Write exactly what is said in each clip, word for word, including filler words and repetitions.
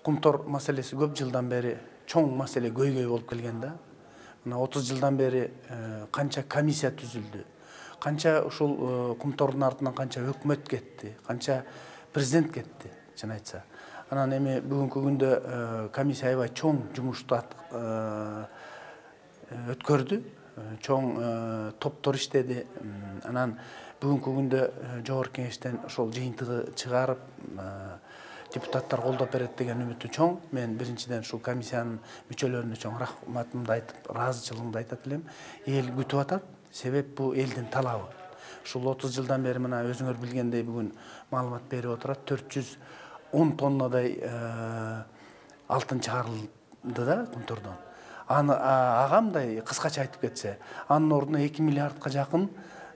кумтор маселеси көп жылдан бери чоң маселе көйгөй болуп келген да. Мына отуз жылдан бери канча комиссия түзүлдү, канча ушул кумтордун артынан канча өкмөт кетти, канча президент кетти, чын айтса. Анан эми бүгүнкү күндө комиссия аябай чоң жумушту өткөрдү, чоң топтор иштеди. Анан бүгүнкү күндө жогорку кеңештен ошол жыйынтыгы чыгарып депутаттар колдоп берет деген үмүтү чоң. Мен биринчиден ушул комиссиянын мүчөлөрүнө чоң рахматымды айтып, ыраазычылыгымды айтат элем. Эл күтүп атат, себеп бул элдин талабы. Ушул отуз жылдан бери мына өзүңөр билгендей бүгүн маалымат берип отурат, төрт жүз он тоннадай алтын чыгарылды да кумтордон. Аны агамдай кыскача айтып кетсе, анын ордуна эки миллиардка жакын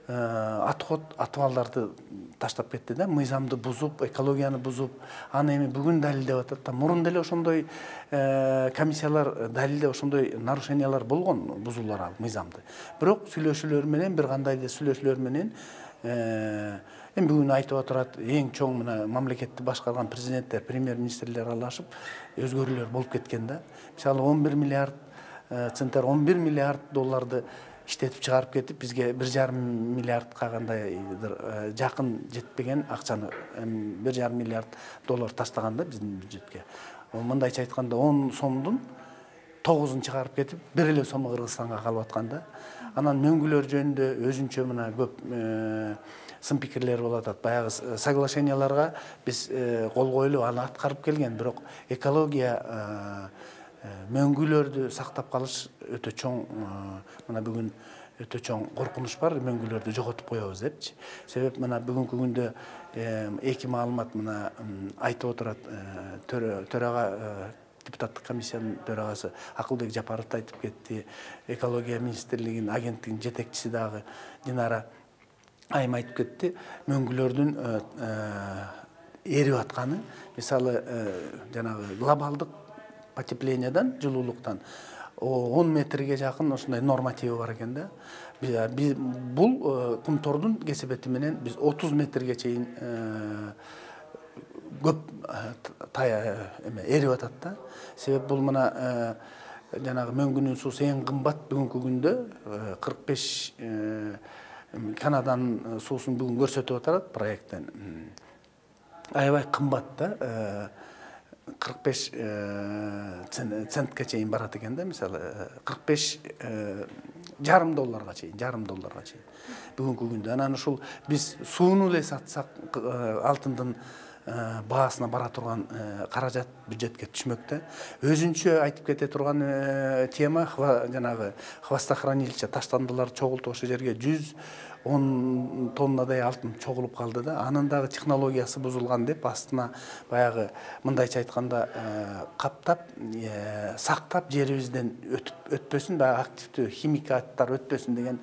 отход атыбалдарды таштап кетти да, мыйзамды бузуп, экологияны бузуп. Аны эми бүгүн далилдеп атат да. Мурун деле ошондой комиссиялар далилде ошондой нарушениялар болгон, бузуулар ал мыйзамды. Бирок сүйлөшүүлөр менен, бир кандай да сүйлөшүүлөр менен эми бүгүн айтып отурат, эң чоң мына мамлекетти башкарган президенттер, премьер-министрлер аралашып өзгөрүүлөр болуп кеткен да. Мисалы он бир миллиард центнер, он бир миллиард долларды иштетип чыгарып кетип, бизге бир жарым миллиардка кандайдыр жакын жетпеген акчаны, бир жарым миллиард доллар таштаган да биздин бюджетке. Мындайча айтканда он сомдун тогузун чыгарып кетип, бир эле сому Кыргызстанга калып аткан да. Анан мөңгүлөр жөнүндө өзүнчө мына көп сын пикирлер болуп атат. Баягы соглашенияларга биз кол коюлуп, аны аткарып келген, бирок экология мөңгүлөрдү сактап калыш өтө чоң, мына бүгүн өтө чоң коркунуч бар, мөңгүлөрдү жоготуп коебуз депчи. Себеп мына бүгүнкү күндө эки маалымат мына айтып отурат, төрага депутаттык комиссиянын төрагасы Акылбек Жапаров айтып кетти, экология министрлигинин агенттигинин жетекчиси дагы Динара Айым айтып кетти, мөңгүлөрдүн эрип атканы, мисалы жанагы глобалдык потеплениядан, жылуулуктан он метрге жакын ошондой нормативи бар экен да. Бул кумтордун кесепети менен биз отуз метрге чейин көп эрип атат да. Себеп бул мына жанагы мөңгүнүн суусу эң кымбат бүгүнкү күндө кырк беш Канаданын суусун бүгүн көрсөтүп атат проекттен. Аябай кымбат да. кырк беш центке чейин барат экен да, мисалы кырк беш жарым долларга чейин, жарым долларга чейин бүгүнкү күндө. Анан ушул биз сууну эле сатсак алтындын баасына бара турган каражат бюджетке түшмөктө. Өзүнчө айтып кете турган тема жанагы хвостохранилище таштандылар чогултуп ошол жерге жүз он тоннадай алтын чогулуп калды да. Анын дагы технологиясы бузулган деп астына баягы мындайча айтканда каптап, сактап жерибизден өтпөсүн, баягы активдүү химикаттар өтпөсүн деген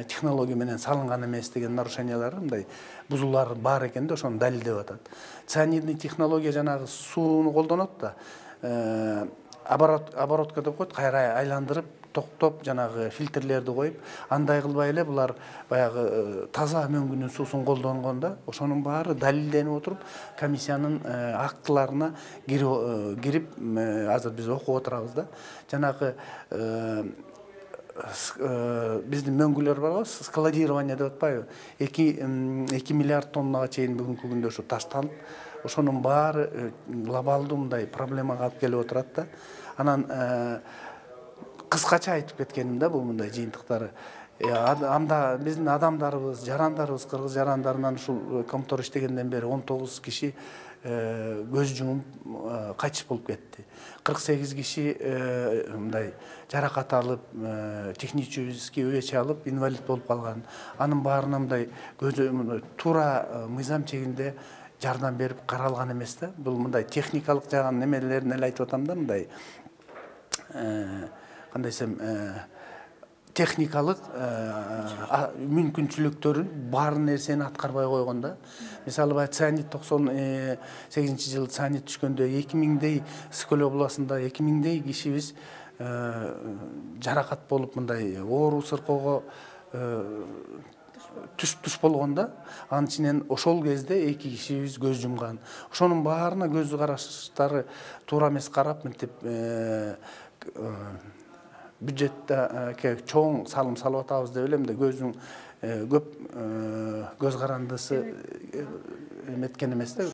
технология менен салынган эмес деген нарушениялар, мындай бузуулар бар экен да, ошону далилдеп атат. Цианидный технология жанагы сууну колдонот да, оборотка деп коет, кайра айландырып, токтоп, жанагы фильтрлерди коюп, андай кылбай эле булар баягы таза мөңгүнүн суусун колдонгон да. Ошонун баары далилденип отуруп, комиссиянын актыларына кирип, азыр биз окуп отурабыз да. Жанагы биздин мөңгүлөр барбы, складирование деп атпайбы, эки миллиард тоннага чейин бүгүнкү күндө ушу ташталып, ошонун баары глобалдуу мындай проблемага алып келип отурат да. Анан кыскача айтып кеткеним да, бул мындай жыйынтыктары. Анда биздин адамдарыбыз, жарандарыбыз, кыргыз жарандарынан ушул кумтор иштегенден бери он тогуз киши көз жумуп кайтыш болуп кетти. кырк сегиз киши мындай жаракат алып, технический увечье алып, инвалид болуп калган. Анын баарына мындай туура мыйзам чегинде жардам берип каралган эмес да. Бул мындай техникалык жагын немелерин эле айтып атам да, мындай кандай десем, техникалык мүмкүнчүлүктөрүн бар нерсени аткарбай койгон да. Мисалы баягы цианид токсон сегизинчи жылы цианид түшкөндө эки миңдей Скөл областында эки миңдей кишибиз жаракат болуп, мындай оору сыркоого түш туш болгондо анын ичинен ошол кезде эки кишибиз көз жумган. Ошонун баарына көз караштары туура эмес карап мынтип бюджетте чоң салым салып атабыз деп элем да көздүн көп көз карандысы эметкен эмес да.